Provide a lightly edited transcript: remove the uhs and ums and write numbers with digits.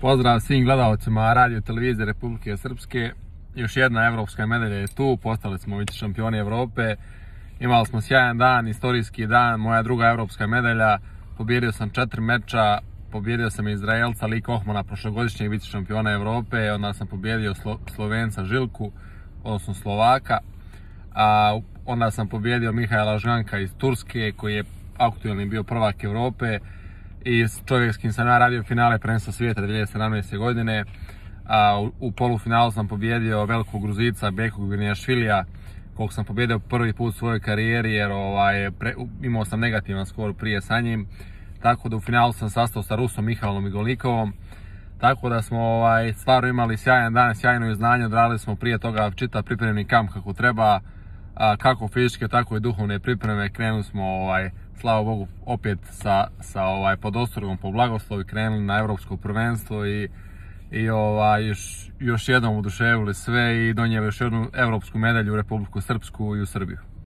Pozdrav svim gledalcima radio televizije Republike Srpske. Još jedna evropska medalja je tu, postali smo vice šampioni Evrope. Imali smo sjajan dan, istorijski dan, moja druga evropska medalja. Pobjedio sam 4 meča, pobjedio sam Izraelca Lee Kohmana, prošlogodišnjeg vice šampiona Evrope, onda sam pobjedio Slovenca Žilku, odnosno Slovaka. Onda sam pobjedio Mihaela Žganka iz Turske, koji je aktualni bio prvak Evrope i čovjek s kim sam ja radio finale prvenstva svijeta 2017. godine. U polufinalu sam pobjedio velikog Gruzica Beku Gvinijašvilija, kog sam pobjedio prvi put u svojoj karijeri jer imao sam negativan skor prije sa njim. Tako da u finalu sam sastao sa Rusom Mihalom Igolnikovom. Tako da smo stvarno imali sjajan dan, sjajno izznanje, odradili smo prije toga čitav pripremni kamp kako treba, kako fizičke, tako i duhovne pripreme. Krenuli smo, slava Bogu, opet sa pod ostrogom po blagoslovu i krenuli na evropsko prvenstvo i još jednom oduševili sve i donijeli još jednu evropsku medalju u Republiku Srpsku i u Srbiju.